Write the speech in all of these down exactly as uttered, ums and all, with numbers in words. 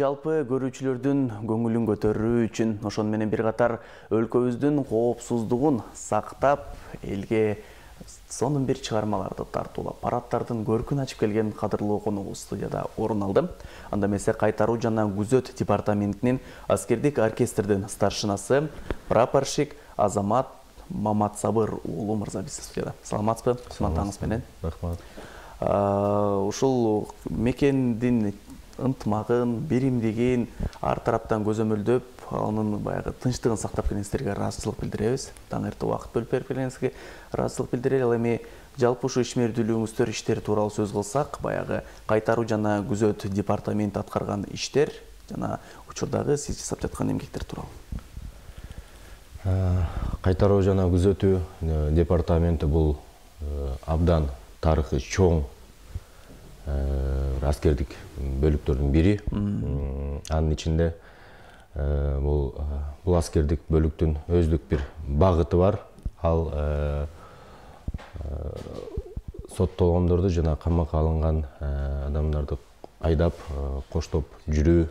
Жалпы көрүүчүлөрдүн көңүлүн көтөрүү үчүн ошону менен бир катар өлкөбүздүн коопсуздугун сактап, элге сонун бир чыгармаларды тартуулап, парадтардын көркүн ачып келген кадырлуу конугубуз студияда орун алды. Анда эмесе кайтаруу жана күзөт департаментинин аскердик оркестрдин старшинасы прапорщик Азамат Маматсабыр уулу мырза биз студияда. Саламатсызбы? Кызматыңыз менен. Рахмат. Ушул мекендин ынтымагын, биримдигин ар тараптан көзөмөлдөп, анын баягы тынчтыгын сактап келгениңиздерге ыраазычылык билдиребиз. Таң эрте убакыт бөлүп берип келгениңизге ыраазычылык билдирели. Ал эми жалпы ушу ишмердүүлүгүңүздөр иштери тууралуу сөз кылсак, баягы кайтаруу жана күзөт департаменти аткарган иштер жана учурдагы сиз жасап жаткан эмгектер тууралуу. Кайтаруу жана күзөтүү департаменти бул абдан тарыхы чоң аскердик бөлүктөрдүн бири. Анын ичинде бул бул аскердик бөлүктүн өздүк бир багыты бар. Ал соттолгондорду жана камакка алынган адамдарды айдап, коштоп жүрүү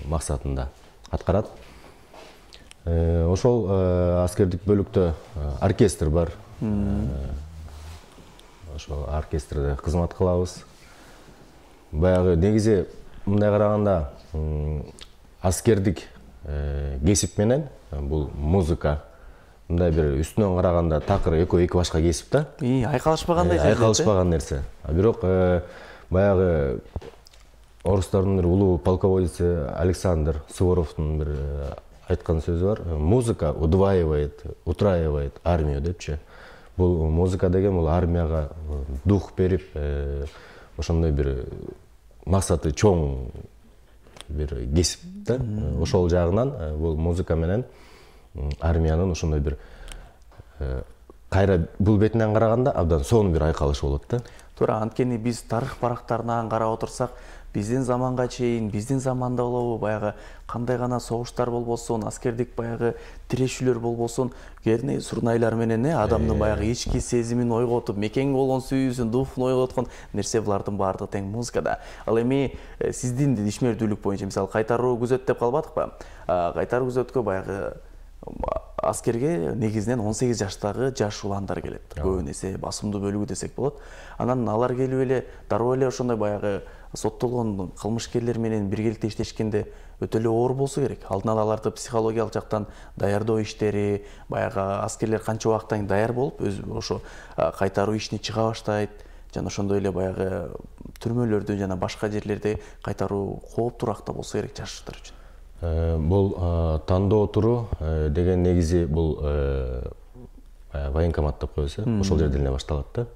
максатында аткарат. Ошол аскердик бөлүктө оркестр бар. Ошол оркестрде кызмат кылабыз. Баягы негизи мындай караганда аскердик кесип менен бул музыка мындай бир үстүнөн караганда такыр экөө эки башка кесип да. И айкалышпагандай нерсе. Айкалышпаган нерсе. Бирок баягы орустардын бир улуу полководеси Александр Суворовдун бир айткан сөзү бар. Музыка удваивает, утраивает армию депчи. Бул музыка деген бул армияга дух берип, ошондой бир максаты чоң бир кесип да. Ошол жагынан бул музыка менен армиянын ошондой бир кайра бул бетинен караганда абдан сонун бир айкалышы болот да. Туура, анткени биз тарых барактарынан карап отурсак, биздин заманга чейин, биздин заманда болобу, баягы кандай гана согуштар болбосун, аскердик баягы тирешүүлөр болбосун, кээде сурнайлар менен адамдын баягы ички сезимин ойготуп, мекенге болгон сүйүүсүн, духун ойготкон нерсе булардын баардыгы тең музыкада. Ал эми сиздин ишмердүүлүк боюнча, мисалы кайтаруу күзөт деп калбадыкпы? Кайтаруу күзөткө баягы аскерге негизинен он сегиз жаштагы жаш уландар келет. Көбүн эсе басымдуу бөлүгү десек болот. Анан алар келип эле дароо эле ошондой баягы соттолгон кылмышкерлер менен биргеликте иштешкенде өтө эле оор болсо керек. Алдын ала аларды психологиялык жактан даярдоо иштери, баягы аскерлер канча убакыттан даяр болуп, өз ошо кайтаруу ишине чыга баштайт, жана ошондой эле баягы түрмөлөрдө жана башка жерлерде кайтаруу кооптураакта болсо керек жаштар үчүн. Бул тандоо туру деген негизи бул военкомат деп коебуз, ошол жерден эле башталат да.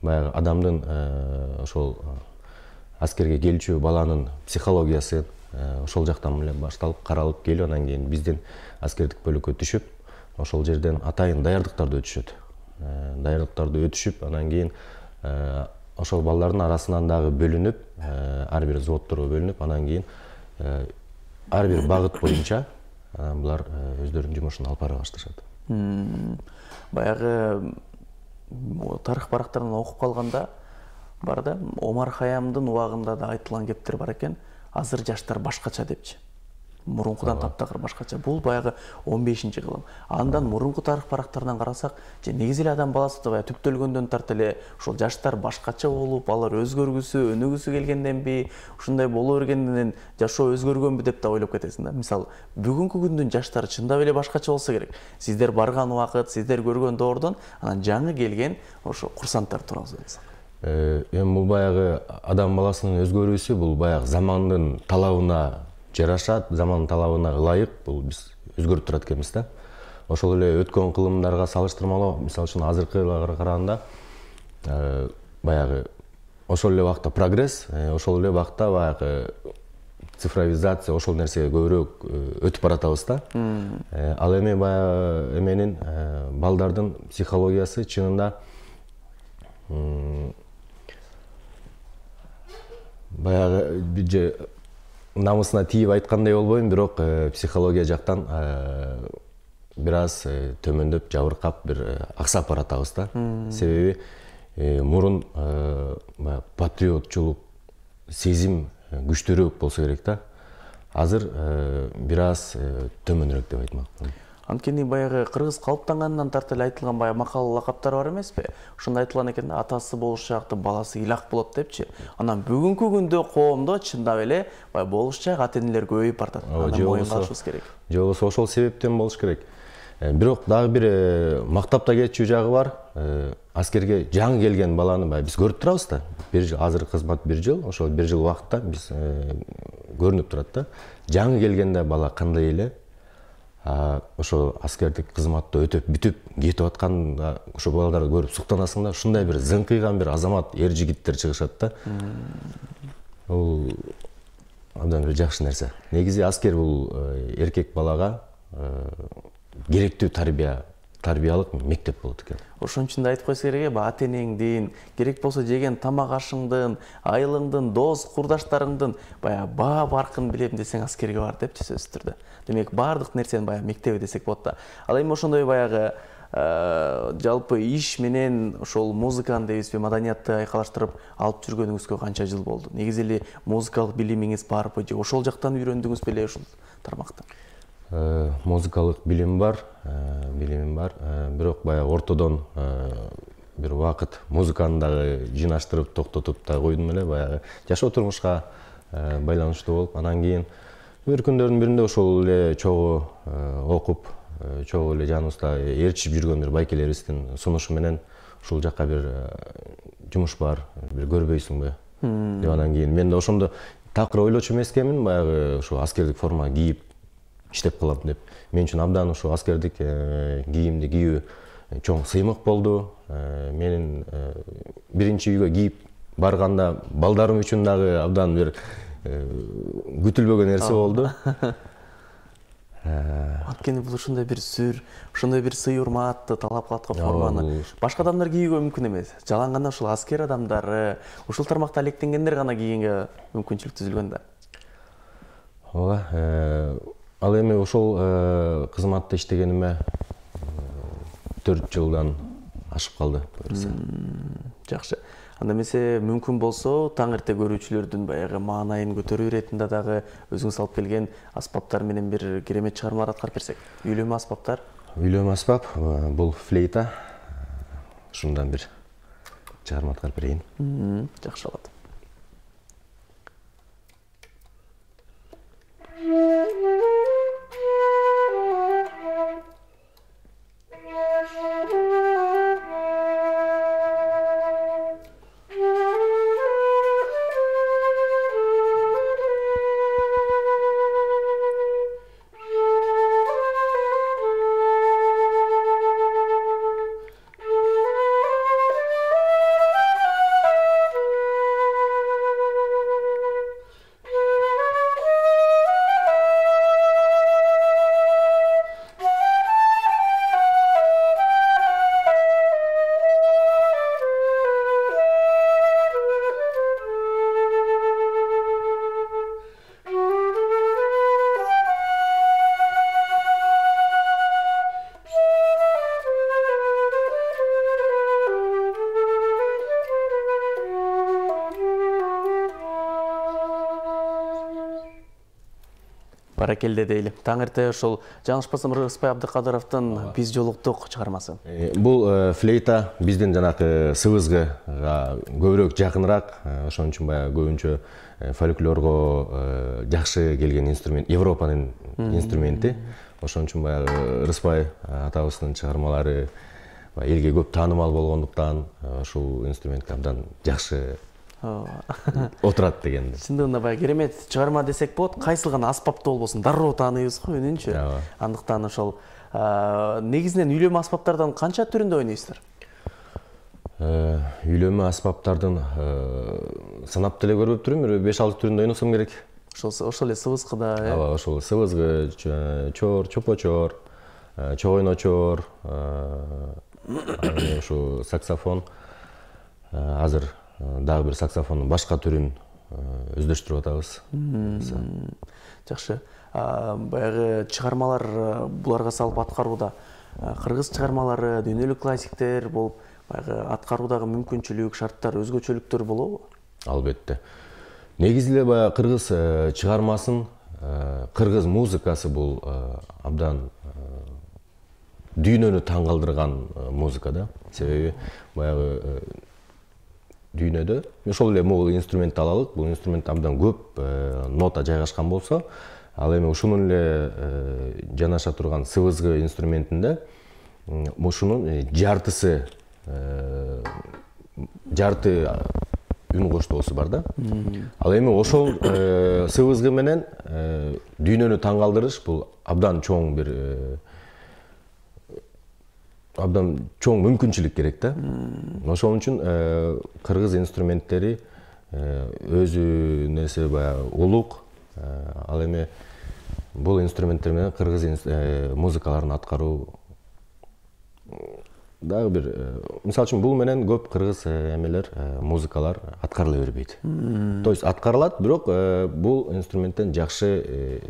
Баягы адамдын ошол аскерге келчү баланын психологиясы ошол жактан эле башталып, каралып келип, анан кийин биздин аскердик бөлүккө түшүп, ошол жерден атайын даярдыктарды өтүшөт. Даярдыктарды өтүшүп, анан кийин ошол балдардын арасынан дагы бөлүнүп, ар бир взводторго бөлүнүп, анан кийин ар бир багыт боюнча булар өздөрүнүн жумушун алып бара башташат. Баягы тарых барактарынан окуп калганда бар да, Омар Хаямдын убагында да айтылган кептер бар экен. Азыр жаштар башкача депчи. Мурункудан таптакыр башкача. Бул баягы он бешинчи кылым. Андан мурунку тарых барактарынан карасак, же негизи эле адам баласы да баягы түптөлгөндөн тарт эле ошол жаштар башкача болуп, алар өзгөргүсү, өнүгүсү келгенденби, ушундай боло бергенден жашоо өзгөргөнбү деп да ойлоп кетесиң да. Мисалы, бүгүнкү күндүн жаштары чындап эле башкача болсо керек. Сиздер барган убакыт, сиздер көргөн доордон анан жаңы келген ошо курсанттар тууралуу сөйлөсөк. Эми бул баягы адам баласынын өзгөрүүсү, бул баягы замандын талабына жарашат, замандын талабына ылайык бул биз өзгөрүп турат экенбиз да. Ошол эле өткөн кылымдарга салыштырмалуу, мисалы үчүн азыркыга караганда баягы ошол эле убакта прогресс, ошол эле убакта баягы цифровизация, ошол нерсеге көбүрөөк өтүп баратабыз да. Ал эми баягы эменин балдардын психологиясы чынында баягы бир намысына тийип айткандай болбойм, бирок психология жактан бир аз төмөндөп, жабыркап, бир аксап баратабыз да. Себеби мурун патриотчулук сезим күчтүүрөөк болсо керек да. Азыр бир аз төмөнүрөөк деп айтмакмын. Анткени баягы кыргыз калыптангандан тарта эле айтылган баягы макал лакаптар бар эмеспи? Ошондо айтылган экен, атасы болушакты, баласы илак болот депчи. Анан бүгүнкү күндө коомдо чындап эле баягы болушчак ата-энелер көбөйүп бартат. Анан моюнга алышыбыз керек. Же болбосо ошол себептен болуш керек. Бирок дагы бир мактап да кетчү жагы бар. Аскерге жаңы келген баланы баягы биз көрүп турабыз да. Бир жыл азыр кызмат бир жыл, ошол бир жыл убакытта биз көрүнүп турат да. Жаңы келгенде бала кандай эле ошо аскердик кызматты өтөп бүтүп кетип атканда ошо балдарды көрүп суктанасың да, ушундай бир зыңкыйган бир азамат эр жигиттер чыгышат да. Бул абдан бир жакшы нерсе. Негизи аскер бул эркек балага керектүү тарбия, тарбиялык мектеп болот экен. Ошон үчүн да айтып койсо керек, ата-энеңдин, керек болсо жеген тамак ашыңдын, айылыңдын, дос, курдаштарыңдын баягы баа баркын билем десең аскерге бар депчи сөзсүз түрдө. Демек баардык нерсени баягы мектеби десек болот да. Ал эми ошондой баягы жалпы иш менен ошол музыканы дейбизби, маданиятты айкалаштырып алып жүргөнүңүзгө канча жыл болду? Негизи эле музыкалык билимиңиз барбы же ошол жактан үйрөндүңүз беле ушул тармакты? Музыкалык билим бар, билимим бар. Бирок баягы ортодон бир убакыт музыканы дагы жыйнаштырып, токтотуп да койдум эле, баягы жашоо турмушка байланыштуу болуп, анан кийин бир күндөрдүн биринде ошол эле чогуу окуп, чогуу эле жаныбызда ээрчип жүргөн бир байкелерибиздин сунушу менен ушул жакка бир жумуш бар, бир көрбөйсүңбү деп, анан кийин мен да ошондо такыр ойлочу эмес экенмин, баягы ушу аскердик форма кийип иштеп калам деп. Мен үчүн абдан ушу аскердик кийимди кийүү чоң сыймык болду. Менин биринчи үйгө кийип барганда балдарым үчүн дагы абдан бир күтүлбөгөн нерсе болду. Анткени бул ушундай бир сүр, ушундай бир сый урматты талап кылат го форманы. Башка адамдар кийүүгө мүмкүн эмес. Жалаң гана ушул аскер адамдары, ушул тармакта алектенгендер гана кийүүгө мүмкүнчүлүк түзүлгөн да. Ооба. Ал эми ошол кызматта иштегениме төрт жылдан ашып калды. Жакшы. Анда эмесе мүмкүн болсо таң эрте көрүүчүлөрдүн баягы маанайын көтөрүү иретинде дагы өзүңүз алып келген аспаптар менен бир керемет чыгармалар аткарып берсек. Үйлөмө аспаптар? Үйлөмө аспап бул флейта. Ушундан бир чыгарма аткарып берейин. Жакшы болот. Баракелде дейли. Таң эрте ошол жаңылышпасам Рыспай Абдыкадыровдун «Биз жолуктук» чыгармасы. Бул флейта биздин жанакы сыбызгыга көбүрөөк жакыныраак, ошон үчүн баягы көбүнчө фольклорго жакшы келген инструмент, Европанын инструменти. Ошон үчүн баягы Рыспай атабыздын чыгармалары элге көп таанымал болгондуктан ушул инструментке абдан жакшы отурат дегенди. Чындыгында баягы керемет чыгарма десек болот. Кайсыл гана аспапты болбосун дароо тааныйбыз го үнүнчү. Андыктан ошол негизинен үйлөмө аспаптардан канча түрүндө ойнойсуздар? Үйлөмө аспаптардын санап деле көрбөп турмун, бир беш алты түрүндө ойносом керек. Ошол ошол эле сыбызгыда, э? Ооба, ошол сыбызгы, чор, чопочор, чогойночор, ушу саксофон. Азыр дагы бир саксофондун башка түрүн өздөштүрүп атабыз. Жакшы. Баягы чыгармалар буларга салып аткарууда кыргыз чыгармалары, дүйнөлүк классиктер болуп баягы аткаруудагы мүмкүнчүлүк, шарттар, өзгөчөлүктөр болобу? Албетте. Негизи эле баягы кыргыз чыгармасын, кыргыз музыкасы бул абдан дүйнөнү таң калтырган музыка да. Себеби баягы дүйнөдө ошол эле могул инструментти алалык. Бул инструмент абдан көп нота жайгашкан болсо, ал эми ушунун эле жанаша турган сыбызгы инструментинде ушунун жартысы жарты үн коштоосу бар да. Ал эми ошол сыбызгы менен дүйнөнү таң калтырыш бул абдан чоң бир абдан чоң мүмкүнчүлүк керек да. Ошон үчүн кыргыз инструменттери өзү нерсе баягы улук. Ал эми бул инструменттер менен кыргыз музыкаларын аткаруу дагы бир, мисалы үчүн бул менен көп кыргыз эмелер, музыкалар аткарыла бербейт. То есть аткарылат, бирок бул инструменттен жакшы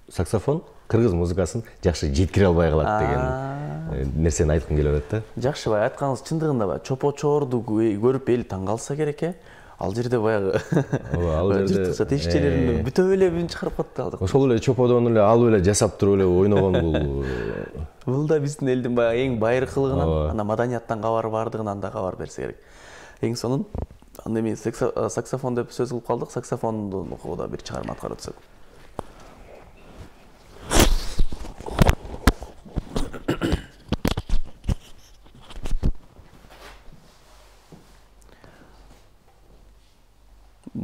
саксофон кыргыз музыкасын жакшы жеткире албай калат деген нерсени айткым келип атат да. Жакшы, бай айтканыңыз чындыгында бай чопо-чоорду көрүп эл таң калса керек э. Ал жерде баягы ал жерде жыртыкча тешичелерин бүтөп эле бүн чыгарып калды. Ошол эле чоподон эле алып эле жасап туруп эле ойногон бул. Бул да биздин элдин баягы эң байыркылыгынан, ана маданияттан кабар бардыгынан да кабар берсе керек. Эң сонун анда эми саксофон деп сөз кылып калдык. Саксофондун да бир чыгарма аткарып өтсөк.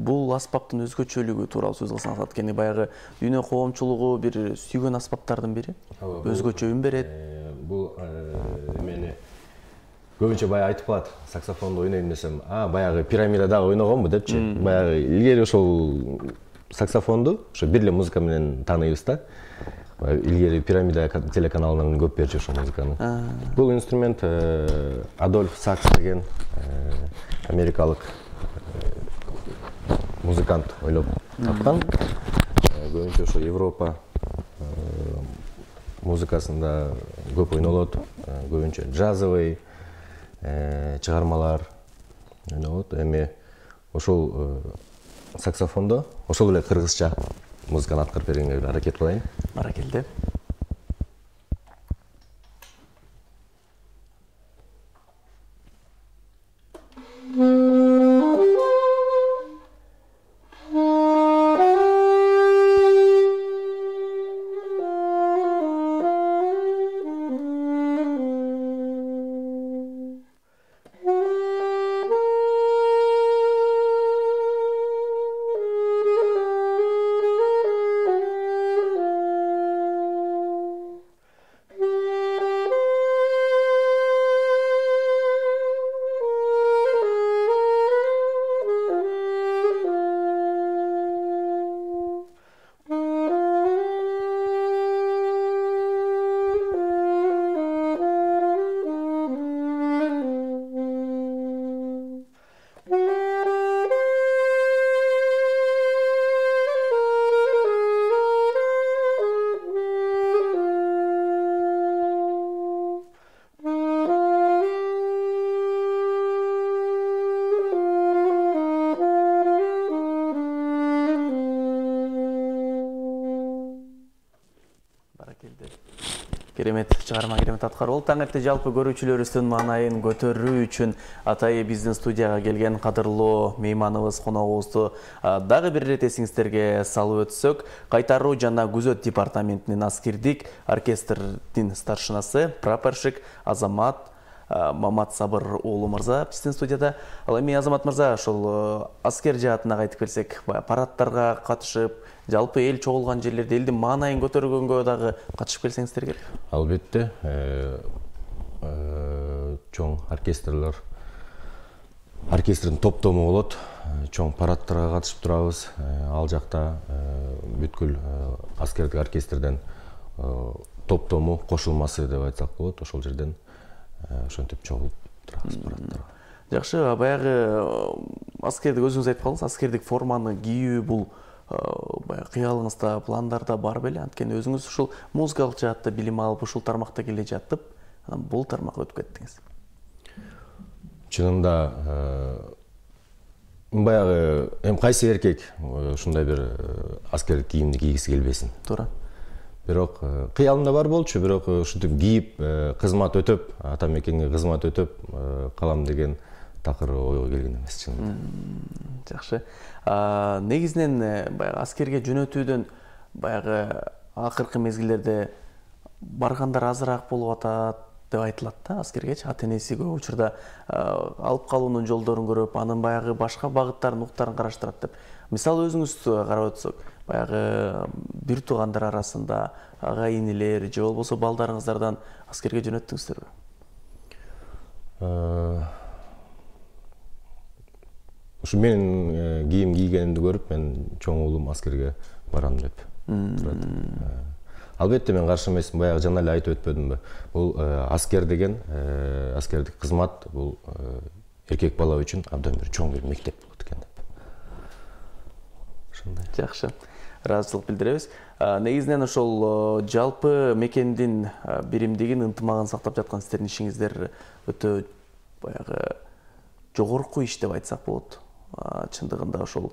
Бул аспаптын өзгөчөлүгү тууралуу сөз кылсаңыз, анткени баягы дүйнө коомчулугу бир сүйгөн аспаптардын бири. Өзгөчө үн берет. Бул эмени көбүнчө баягы айтып калат, саксофонду ойнойм десем, а баягы пирамидада ойногонбу депчи. Баягы илгери ошол саксофонду ошо бир эле музыка менен тааныйбыз да. Илгери пирамида телеканалынан көп берчү ошол музыканы. Бул инструмент Адольф Сакс деген америкалык музыкант ойлоп тапкан. Көбүнчө ошо Европа музыкасында көп ойнолот. Көбүнчө джазовый чыгармалар ойнолот. Эми ошол саксофондо ошол эле кыргызча музыканы аткарып бергенге аракет кылайын. Баракелде. Керемет чыгарма, керемет аткаруу болду. Таң эрте жалпы көрүүчүлөрүбүздүн маанайын көтөрүү үчүн атайы биздин студияга келген кадырлуу мейманыбыз, коногубузду дагы бир ирет эсиңиздерге салып өтсөк, кайтаруу жана күзөт департаментинин аскердик оркестрдин старшинасы, прапорщик Азамат Мамат Сабыр уулу мырза биздин студияда. Ал эми Азамат мырза, ошол аскер жаатына кайтып келсек, парадтарга катышып, жалпы эл чогулган жерлерде элдин маанайын көтөргөнгө дагы катышып келсеңиздер керек. Албетте, чоң оркестрлер, оркестрдин топтому болот. Чоң парадтарга катышып турабыз. Ал жакта бүткүл аскердик оркестрден топтому кошулмасы деп айтсак болот. Ошол жерден ошентип чогулуп турабыз парадтарга. Жакшы, баягы аскердик өзүңүз айтып калдыңыз, аскердик форманы кийүү бул баягы кыялыңызда, пландарда бар беле? Анткени өзүңүз ушул музыкалык жаатта билим алып, ушул тармакта келе жатып, анан бул тармакка өтүп кеттиңиз. чынында баягы эми кайсы эркек ушундай бир аскерлик кийимди кийгиси келбесин. Туура. Бирок кыялымда бар болчу, бирок ушинтип кийип кызмат өтөп, ата мекенге кызмат өтөп калам деген такыр ойго келген эмес чынында. Жакшы. Негизинен баягы аскерге жөнөтүүдөн баягы акыркы мезгилдерде баргандар азыраак болуп атат деп айтылат да, аскергечи ата энеси көп учурда алып калуунун жолдорун көрүп, анын баягы башка багыттарын, уктарын караштырат деп. Мисалы өзүңүз карап өтсөк, баягы бир туугандар арасында ага инилер же болбосо балдарыңыздардан аскерге жөнөттүңүздөрбү? Ушу менин кийим кийгенимди көрүп, мен чоң уулум аскерге барам деп турат. Албетте мен каршы эмесмин, баягы жана эле айтып өтпөдүмбү? Бул аскер деген, аскердик кызмат бул эркек бала үчүн абдан бир чоң бир мектеп болот экен деп. Ошондой. Жакшы. Ыраазычылык билдиребиз. Негизинен ошол жалпы мекендин биримдигин, ынтымагын сактап жаткан сиздердин ишиңиздер өтө баягы жогорку иш деп айтсак болот. Чындыгында ошол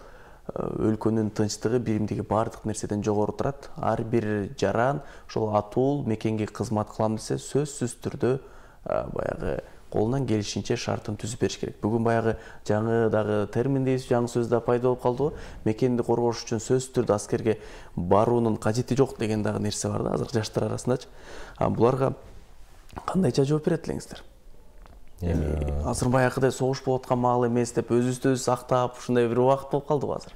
өлкөнүн тынчтыгы, биримдиги баардык нерседен жогору турат. Ар бир жаран ошол атуул мекенге кызмат кылам десе, сөзсүз түрдө баягы колунан келишинче шартын түзүп бериш керек. Бүгүн баягы жаңы дагы термин дейбиз, жаңы сөз да пайда болуп калдыбы? Мекенди коргош үчүн сөзсүз түрдө аскерге баруунун кажети жок деген дагы нерсе бар да, азыр жаштар арасындачы. Буларга кандайча жооп берет элеңиздер? Эми азыр баягыдай согуш болуп аткан маал эмес деп өзүбүздү өзүбүз актап, ушундай бир убакыт болуп калдыбы азыр?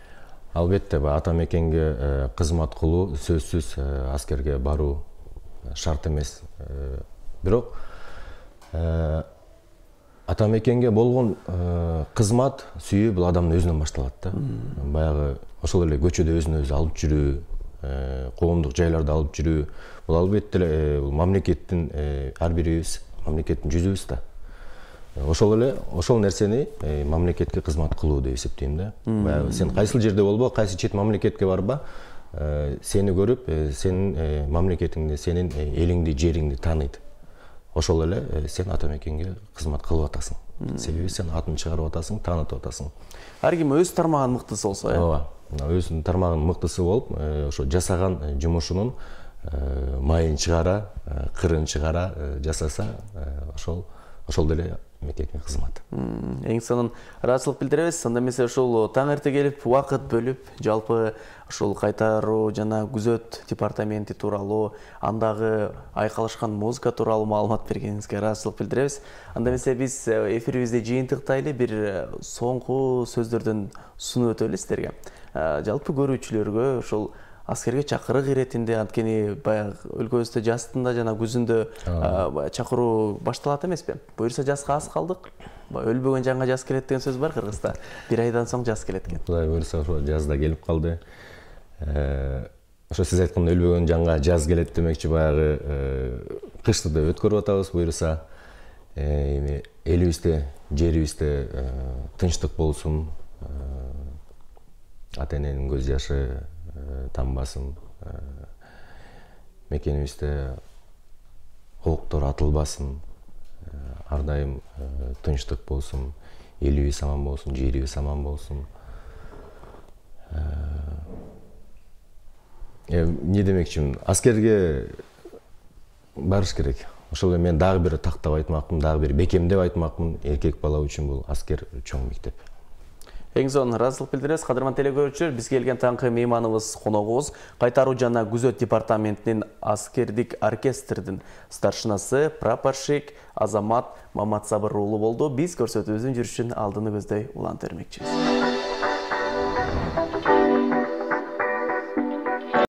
Албетте, ата мекенге кызмат кылуу сөзсүз аскерге баруу шарт эмес. Бирок ата мекенге болгон кызмат, сүйүү бул адамдын өзүнөн башталат да. Баягы ошол эле көчөдө өзүн өзү алып жүрүү, коомдук жайларда алып жүрүү, бул албетте эле бул мамлекеттин ар бирибиз мамлекеттин жүзүбүз да. Ошол эле ошол нерсени мамлекетке кызмат кылуу деп эсептейм да. Баягы сен кайсыл жерде болбо, кайсы чет мамлекетке барба, сени көрүп, сенин мамлекетиңди, сенин элиңди, жериңди тааныйт. Ошол эле сен ата мекенге кызмат кылып атасың. Себеби сен атын чыгарып атасың, таанытып атасың. Ар ким өз тармагынын мыктысы болсо, э? Ооба. Өзүнүн тармагынын мыктысы болуп, ошо жасаган жумушунун майын чыгара, кырын чыгара жасаса, ошол ошол деле мекенге кызмат. Эң сонун ыраазычылык билдиребиз. Анда эмесе ошол таң эрте келип, убакыт бөлүп, жалпы ошол кайтаруу жана күзөт департаменти тууралуу, андагы айкалышкан музыка тууралуу маалымат бергениңизге ыраазычылык билдиребиз. Анда эмесе биз эфирибизди жыйынтыктайлы бир соңку сөздөрдөн сунуп өтөлү сиздерге. Жалпы көрүүчүлөргө ошол аскерге чакырык иретинде, анткени баягы өлкөбүздө жастында жана күзүндө чакыруу башталат эмеспи? Буюрса жазга аз калдык. Өлбөгөн жанга жаз келет деген сөз бар кыргызда. Бир айдан соң жаз келет экен. Кудай буюрса ошо жаз да келип калды. Ошо сиз айткандай өлбөгөн жанга жаз келет демекчи, баягы кышты да өткөрүп атабыз буюрса. Эми элибизде, жерибизде тынчтык болсун. Ата эненин көз жашы тамбасын, мекенибизде октор атылбасын, ар дайым тынчтык болсун, элибиз аман болсун, жерибиз аман болсун. Эмне демекчимин, аскерге барыш керек. Ошол эле мен дагы бир тактап айтмакмын, дагы бир бекемдеп айтмакмын, эркек бала үчүн бул аскер чоң мектеп. Эң сонун ыраазычылык билдиребиз. Кадырман телекөрүүчүлөр, бизге келген таңкы мейманыбыз, коногубуз кайтаруу жана күзөт департаментинин аскердик оркестрдин старшинасы, прапорщик Азамат Маматсабыр уулу болду. Биз көрсөтүүбүздүн жүрүшүн алдыны көздөй улантып бермекчибиз.